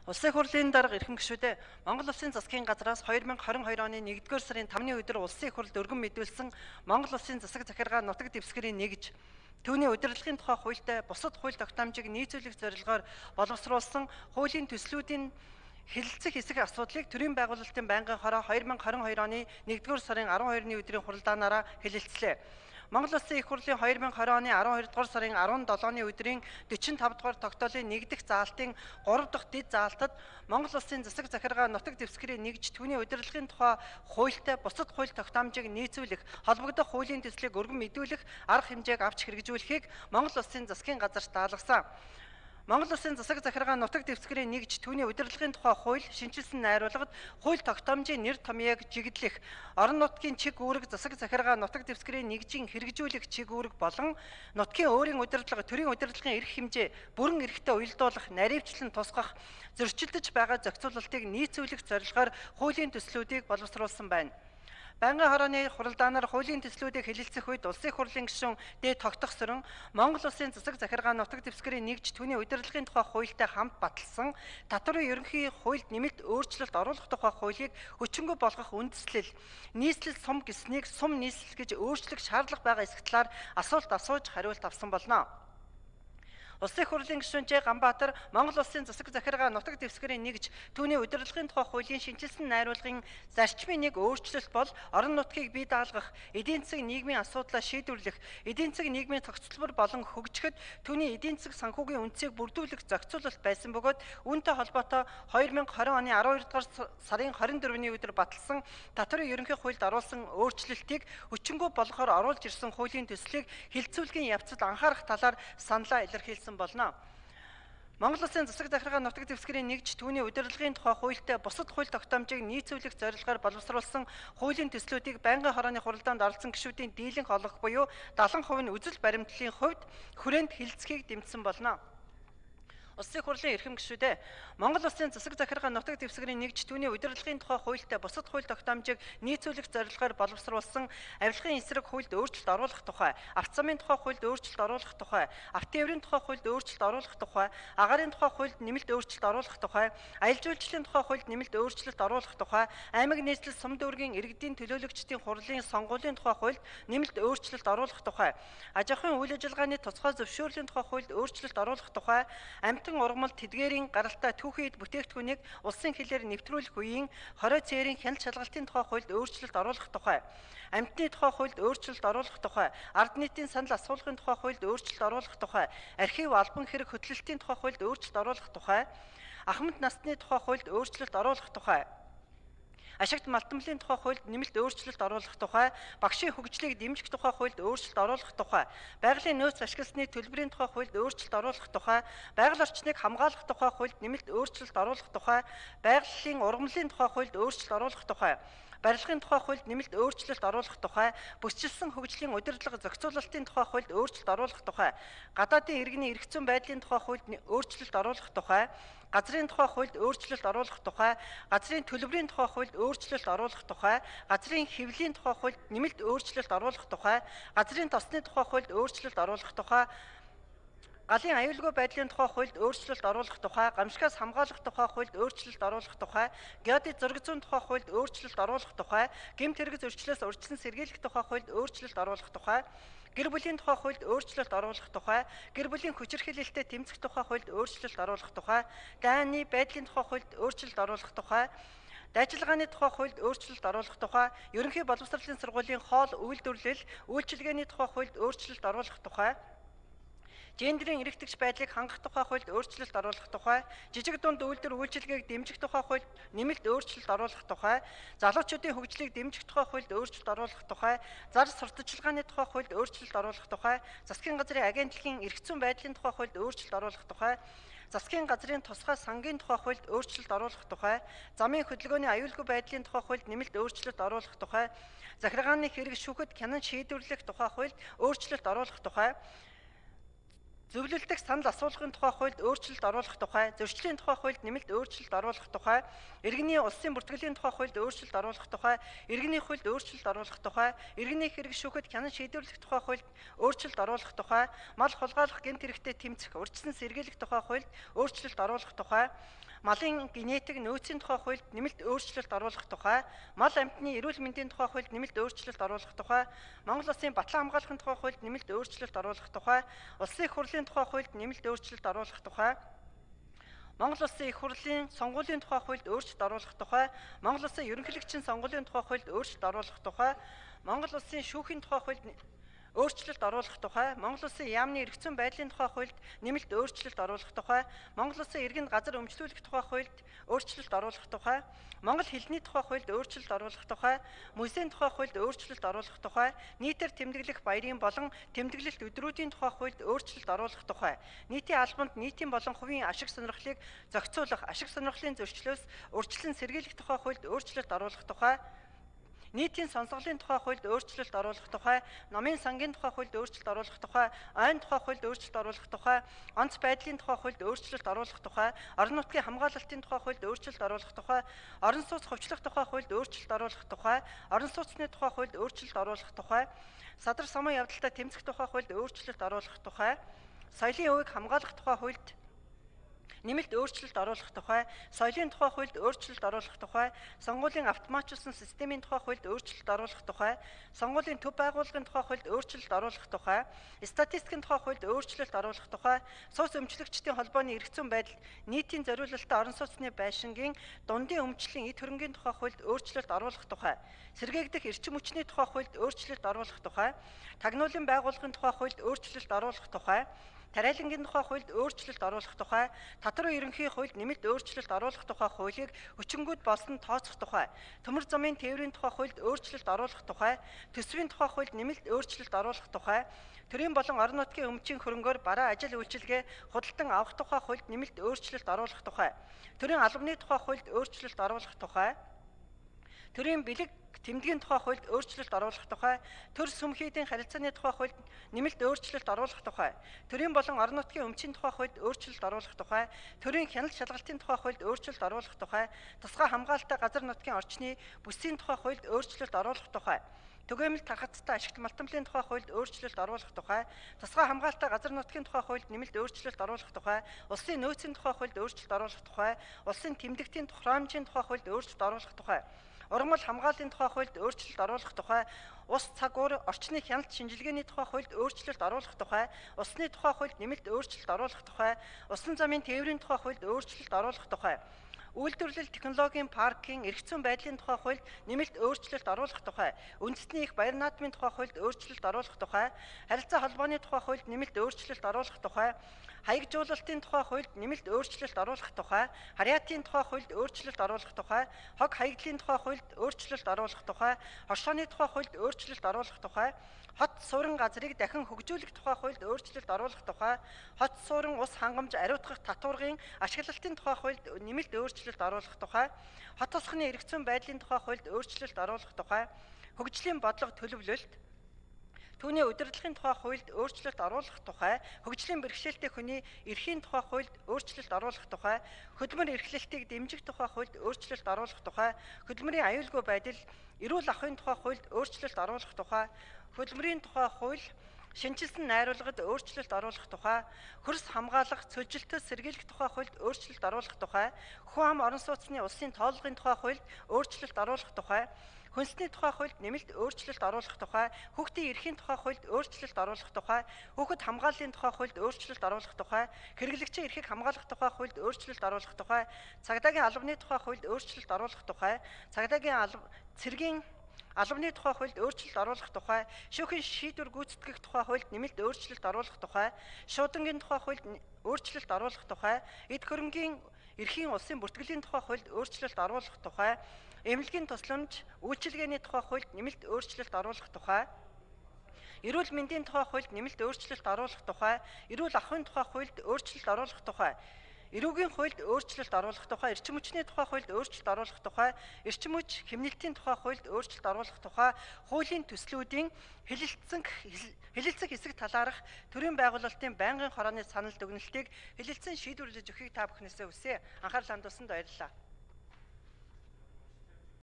Улсын хурлын дарга эрхэм гишүүдээ Монгол Улсын засгийн газраас 2022 оны 1-р сарын 5-ны өдөр улсын хурлд өргөн мэдүүлсэн Монгол Улсын засаг захиргаа нутаг дэвсгэрийн нэгж түүний удирдлагын тухай хуультай бусад хууль тогтоомжийг нийцүүлэх зорилгоор боловсруулсан хуулийн төслүүдийн хэлэлцэх хэсэг асуудлыг төрийн байгуулалтын байнгын хороо 2022 оны 1-р сарын 12-ны өдрийн хуралдаанаараа хэлэлцлээ. Монгол Улсын их хурлын 2020 оны 12-р сарын 17-ны өдрийн 45-р тогтоолын 1 дахь заалтын 3 дахь дэд заалтад Монгол Улсын засаг захиргаа нутаг дэвсгэрийн нэгж түүний удирдлагын тухай хуультай бусад хууль тогтоомжийг нийцүүлэх, холбогдох хуулийн төслийг өргөн мэдүүлэх арга хэмжээг авч хэрэгжүүлэхийг Монгол Улсын засгийн газарт даалгасан. Монгол Улсын засаг захиргаа нутаг дэвсгэрийн нэгж түүний удирдлагын тухай хууль шинжилсэн найруулгад хууль тогтоомжийн нэр томьёог жигэдлэх, орон нутгийн чиг үүрэг засаг захиргаа нутаг дэвсгэрийн нэгжийн хэрэгжүүлэх чиг үүрэг болон нутгийн өөрийн удирдлага, төрийн удирдлагын эрх хэмжээ бүрэн эрхтэй уялдуулах, наривчлан тусгах, зөрчилдөж байгаа зохицуулалтыг нийцүүлэх зорилгоор хуулийн төслүүдийг боловсруулсан байна. Байнгын хорооны хуралдаанаар хуулийн төслүүдийг хэлэлцэх үед улсын хурлын гишүүн Д. Тогтохсорон Монгол Улсын засаг захиргаа нутаг дэвсгэрийн нэгж түүний удирдлагын тухай хуультай хамт баталсан татварын ерөнхий хуульд нэмэлт өөрчлөлт оруулах тухай хуулийг хүчингү болгох үндэслэл, нийслэл сум гэснийг сум нийслэл гэж өөрчлөх шаардлага байгаа эсэх талаар асуулт асууж хариулт авсан болно. Улсын хурлын гишүүн Ж. Ганбаатар Монгол Улсын засаг захиргаа нутаг дэвсгэрийн нэгж түүний удирдлагын тухай хуулийн шинжилсэн найруулгын зарчмын нэг өөрчлөлт бол орон нутгийг бий даалгах, эдийн засгийн нийгмийн асуудлаа шийдвэрлэх, эдийн засгийн нийгмийн тогтцолбор болон хөгжихэд түүний эдийн засаг санхүүгийн үндсийг бүрдүүлэх зохицуулалт байсан бөгөөд үүнтэй холбоотой 2020 оны 12 дугаар сарын 24-ний өдөр баталсан татварын ерөнхий хуульд оруулсан өөрчлөлтийг хүчингү болгохоор оруулж ирсэн хуулийн төслийг хэлэлцүүлгийн явцад анхаарах талаар саналаа илэрхийлсэн болно. Монгол Улсын засаг захиргаа нутаг дэвсгэрийн нэгж түүний удирдлагын тухай хуультай бусад хууль тогтоомжийг нийцүүлэх зорилгоор боловсруулсан хуулийн төслүүдийг байнгын хорооны хуралдаанд оролцсон гишүүдийн дийлэнх олгох буюу 70% нь үзэл баримтлалын хувьд хүрээнд хэлэлцэхийг дэмжсэн болно. Улсын хурлын эрхэм гишүүдээ Монгол Улсын засаг захиргаа нутаг дэвсгэрийн нэгж түүний удирдлагын тухай хуультай бусад хууль тогтоомжийг нийцүүлэх зорилгоор боловсруулсан авилгын эсрэг хуульд өөрчлөлт оруулах тухай, авто замын тухай хуульд өөрчлөлт оруулах тухай, авто тээврийн тухай хуульд өөрчлөлт оруулах тухай, агаарын тухай хуульд нэмэлт өөрчлөлт оруулах тухай, аялал жуулчлалын тухай хуульд нэмэлт өөрчлөлт оруулах тухай, аймаг нийслэл сум дүүргийн иргэдийн төлөөлөгчдийн хурлын сонгуулийн тухай хуульд нэмэлт өөрчлөлт оруулах тухай, аж ахуйн үйл ажиллагааны тусгай зөвшөөрлийн тухай хуульд өөрчлөлт оруулах тухай, ургамал тэдгээрийн гаралтай түүхийд бүтээгдэхүүнийг улсын хэлээр нэвтрүүлэх үеийн хорой цээрийн хяналт шалгалтын тухай хуульд өөрчлөлт оруулах тухай, амьтны тухай хуульд өөрчлөлт оруулах тухай, ард нийтийн санал асуулгын тухай хуульд өөрчлөлт оруулах тухай, архив албан хэрэг хөтлөлтийн тухай хуульд өөрчлөлт оруулах тухай, ахмад насны тухай хуульд өөрчлөлт оруулах тухай, ашигт малтамлын тухай хуульд нэмэлт өөрчлөлт оруулах тухай, багшийн хөгжлийг дэмжих тухай хуульд өөрчлөлт оруулах тухай, байгалийн нөөц ашигласны төлбөрийн тухай хуульд өөрчлөлт оруулах тухай, байгаль орчныг хамгаалах тухай хуульд нэмэлт өөрчлөлт оруулах тухай, байгалийн ургамлын тухай хуульд өөрчлөлт оруулах тухай, барилгын тухай хуульд нэмэлт өөрчлөлт оруулах тухай, бүсчилсэн хөгжлийн удирдлага зохицуулалтын тухай хуульд өөрчлөлт оруулах тухай, гадаадын иргэний эрх зүйн байдлын тухай хуульд өөрчлөлт оруулах тухай, газрын тухай хуульд өөрчлөлт оруулах тухай, газрын төлбөрийн тухай хуульд өөрчлөлт оруулах тухай, газрын хэвлэлийн тухай хуульд нэмэлт өөрчлөлт оруулах тухай, газрын тосны тухай хуульд өөрчлөлт оруулах тухай, галын аюулгүй байдлын тухай хуульд өөрчлөлт оруулах тухай, гамшигаас хамгаалах тухай хуульд өөрчлөлт оруулах тухай, геодит зураг зүйн тухай хуульд өөрчлөлт оруулах тухай, гэмт хэрэг зөрчлөөс урьдчилан сэргийлэх тухай хуульд өөрчлөлт оруулах тухай, гэр бүлийн тухай хуульд өөрчлөлт оруулах тухай, гэр бүлийн хүчирхийлэлтэд тэмцэх тухай хуульд өөрчлөлт оруулах тухай, дайны байдлын тухай хуульд өөрчлөлт оруулах тухай, дайчилгааны тухай хуульд өөрчлөлт оруулах тухай, ерөнхий боловсролын сургуулийн хоол үйлдвэрлэл, үйлчилгээний тухай хуульд өөрчлөлт оруулах тухай, гендерийн эрэгтгч байдлыг хангах тухай хуульд өөрчлөлт оруулах тухай, жижиг дунд үйлдвэр үйлчилгээг дэмжих тухай хуульд нэмэлт өөрчлөлт оруулах тухай, залуучуудын хөгжлийг дэмжих тухай хуульд өөрчлөлт оруулах тухай, зар сурталчилгааны тухай хуульд өөрчлөлт оруулах тухай, засгийн газрын агентлагийн эрх зүйн байдлын тухай хуульд өөрчлөлт оруулах тухай, засгийн газрын тусгай сангийн тухай хуульд өөрчлөлт оруулах тухай, замын хөдөлгөөний аюулгүй байдлын тухай хуульд нэмэлт өөрчлөлт оруулах тухай, захиргааны хэрэг шүүхэд хянан шийдвэрлэх тухай хуульд өөрчлөлт оруулах тухай, зөвлөлдөх санал асуулгын тухай хуульд өөрчлөлт оруулах тухай, зөрчлийн тухай хуульд нэмэлт өөрчлөлт оруулах тухай, иргэний улсын бүртгэлийн тухай хуульд өөрчлөлт оруулах тухай, иргэний хуульд өөрчлөлт оруулах тухай, иргэний хэрэг шүүхэд хянан шийдвэрлэх тухай хуульд өөрчлөлт оруулах тухай, мал хулгайлах гэмт хэрэгтэд тэмцэх урьдчилан сэргийлэх тухай хуульд өөрчлөлт оруулах тухай, малын генетик нөөцийн тухай хуульд нэмэлт өөрчлөлт оруулах тухай, мал амьтны эрүүл мэндийн тухай хуульд нэмэлт өөрчлөлт оруулах тухай, Монгол Улсын батлан хамгаалахын тухай хуульд нэмэлт өөрчлөлт оруулах тухай, Улсын их хурлын тухай хуульд нэмэлт өөрчлөлт оруулах тухай, Монгол Улсын их хурлын сонгуулийн тухай хуульд өөрчлөлт оруулах тухай, Монгол Улсын ерөнхийлөгчийн сонгуулийн тухай хуульд өөрчлөлт оруулах тухай, Монгол Улсын шүүхийн тухай хуульд өөрчлөлт оруулах тухай, Монгол Улсын яамны эрх зүйн байдлын тухай хуульд нэмэлт өөрчлөлт оруулах тухай, Монгол Улсын иргэнд газар өмчлүүлэх тухай хуульд өөрчлөлт оруулах тухай, Монгол хэлний тухай хуульд өөрчлөлт оруулах тухай, музейн тухай хуульд өөрчлөлт оруулах тухай, нийтээр тэмдэглэх баярын болон тэмдэглэлт өдрүүдийн тухай хуульд өөрчлөлт оруулах тухай, нийтийн албанд нийтийн болон хувийн ашиг сонирхлыг зохицуулах, ашиг сонирхлын зөрчлөөс урьдчилан сэргийлэх тухай хуульд өөрчлөлт оруулах тухай, нийтийн сонсголын тухай хуульд өөрчлөлт оруулах тухай, номын сангийн тухай хуульд өөрчлөлт оруулах тухай, ойн тухай хуульд өөрчлөлт оруулах тухай, онц байдлын тухай хуульд өөрчлөлт оруулах тухай, орон нутгийн хамгаалалтын тухай хуульд өөрчлөлт оруулах тухай, орон сууц хувьчлах тухай хуульд өөрчлөлт оруулах тухай, орон сууцны тухай хуульд өөрчлөлт оруулах тухай, садар самуун явдалтай тэмцэх тухай хуульд өөрчлөлт оруулах тухай, соёлын өвөг хамгаалах тухай хуульд нэмэлт өөрчлөлт оруулах тухай, соёлын тухай хуульд өөрчлөлт оруулах тухай, сонгуулийн автоматжуулсан системийн тухай хуульд өөрчлөлт оруулах тухай, сонгуулийн төв байгууллагын тухай хуульд өөрчлөлт оруулах тухай, статистикийн тухай хуульд өөрчлөлт оруулах тухай, сууц өмчлөгчдийн холбооны эрх зүйн байдал, нийтийн зориулалттай орон сууцны байшингийн дундын өмчлөлийн эд хөрөнгийн тухай хуульд өөрчлөлт оруулах тухай, сэргээгдэх эрчим хүчний тухай хуульд өөрчлөлт оруулах тухай, тагнуулын байгууллагын тухай хуульд өөрчлөлт оруулах тухай, тариалангийн тухай хуульд өөрчлөлт оруулах тухай, татвар ерөнхий хуульд нэмэлт өөрчлөлт оруулах тухай хуулийг хүчингүүд болсон тооцох тухай, төмөр замын тээврийн тухай хуульд өөрчлөлт оруулах тухай, төсвийн тухай хуульд нэмэлт өөрчлөлт оруулах тухай, төрийн болон орон нутгийн өмчийн хөрөнгөөр бараа ажил үйлчилгээ худалдан авах тухай хуульд нэмэлт өөрчлөлт оруулах тухай, төрийн албаны тухай хуульд өөрчлөлт оруулах тухай, төрийн бэлэг тэмдгийн тухай хуульд өөрчлөлт оруулах тухай, төр сүмхийдийн харилцааны тухай хуульд нэмэлт өөрчлөлт оруулах тухай, төрийн болон орон нутгийн өмчийн тухай хуульд өөрчлөлт оруулах тухай, төрийн хяналт шалгалтын тухай хуульд өөрчлөлт оруулах тухай, тусгай хамгаалалттай газар нутгийн орчны бүсийн тухай хуульд өөрчлөлт оруулах тухай, түгээмэл тархацтай ашигт малтамлын тухай хуульд өөрчлөлт оруулах тухай, тусгай хамгаалалттай газар нутгийн тухай хуульд нэмэлт өөрчлөлт оруулах тухай, улсын нөөцийн тухай хуульд өөрчлөлт оруулах тухай, улсын тэмдэгтийн тухайрамжийн тухай хуульд өөрчлөлт оруулах тухай, ургамал хамгааллын тухай хуульд өөрчлөлт оруулах тухай, ус цаг уур орчны хяналт шинжилгээний тухай хуульд өөрчлөлт оруулах тухай, усны тухай хуульд нэмэлт өөрчлөлт оруулах тухай, усан замын тээврийн тухай хуульд өөрчлөлт оруулах тухай, үйлдвэрлэл технологийн паркийн эрх зүйн байдлын тухай хуульд нэмэлт өөрчлөлт оруулах тухай, үндэсний их баяр наадмын тухай хуульд өөрчлөлт оруулах тухай, харилцаа холбооны тухай хуульд нэмэлт өөрчлөлт оруулах тухай, хаягжуулалтын тухай хуульд нэмэлт өөрчлөлт оруулах тухай, харьяатын тухай хуульд өөрчлөлт оруулах тухай, хог хаягдлын тухай хуульд өөрчлөлт оруулах тухай, хоршооны тухай хуульд өөрчлөлт оруулах тухай, хот суурин газрыг дахин хөгжүүлэх тухай хуульд өөрчлөлт оруулах тухай, хот суурин ус хангамж ариутгах татваргын ашиглалтын тухай хуульд нэмэлт өөрчлөлт оруулах тухай, хот тосхны эрх зүйн байдлын тухай хуульд өөрчлөлт оруулах тухай, хөгжлийн бодлого төлөвлөлт, түүний удирдлагын тухай хуульд өөрчлөлт оруулах тухай, хөгжлийн бэрхшээлтэй хүний эрхийн тухай хуульд өөрчлөлт оруулах тухай, хөдөлмөр эрхлэлтийг дэмжих тухай хуульд өөрчлөлт оруулах тухай, хөдөлмөрийн аюулгүй байдал, эрүүл ахуйн тухай хуульд өөрчлөлт оруулах тухай, хөдөлмөрийн тухай хууль, шинжилсэн найруулгад өөрчлөлт оруулах тухай, хөрс хамгаалах, цөлжилтөд сэргийлэх тухай хуульд өөрчлөлт оруулах тухай, хүн ам орон сууцны улсын тоолгын тухай хуульд өөрчлөлт оруулах тухай, хүнсний тухай хуульд нэмэлт өөрчлөлт оруулах тухай, хүүхдийн эрхийн тухай хуульд өөрчлөлт оруулах тухай, хүүхэд хамгааллын тухай хуульд өөрчлөлт оруулах тухай, хэрэглэгчийн эрхийг хамгаалах тухай хуульд өөрчлөлт оруулах тухай, цагдаагийн албаны тухай хуульд өөрчлөлт оруулах тухай, цагдаагийн цэргийн албаны тухай хуульд өөрчлөлт оруулах тухай, шүүхийн шийдвэр гүйцэтгэх тухай хуульд нэмэлт өөрчлөлт оруулах тухай, шуудангийн тухай хуульд өөрчлөлт оруулах тухай, эд хөрөнгийн эрхийн улсын бүртгэлийн тухай хуульд өөрчлөлт оруулах тухай, эмнэлгийн тусламж үйлчилгээний тухай хуульд нэмэлт өөрчлөлт оруулах тухай, эрүүл мэндийн тухай хуульд нэмэлт өөрчлөлт оруулах тухай, эрүүл ахуйн тухай хуульд өөрчлөлт оруулах тухай, эрүүгийн хуульд өөрчлөлт оруулах тухай, эрчим хүчний тухай хуульд өөрчлөлт оруулах тухай, эрчим хүч хэмнэлтийн тухай хуульд өөрчлөлт оруулах тухай, хуулийн төслүүдийн хэлэлцэх хэсэг талаарх төрийн байгуулалтын байнгын хорооны санал дүгнэлтийг хэлэлцэн шийдвэрлэж өгөхийг та бүхнээсээ хүсье. Анхаарал хандуулсанд баярлалаа.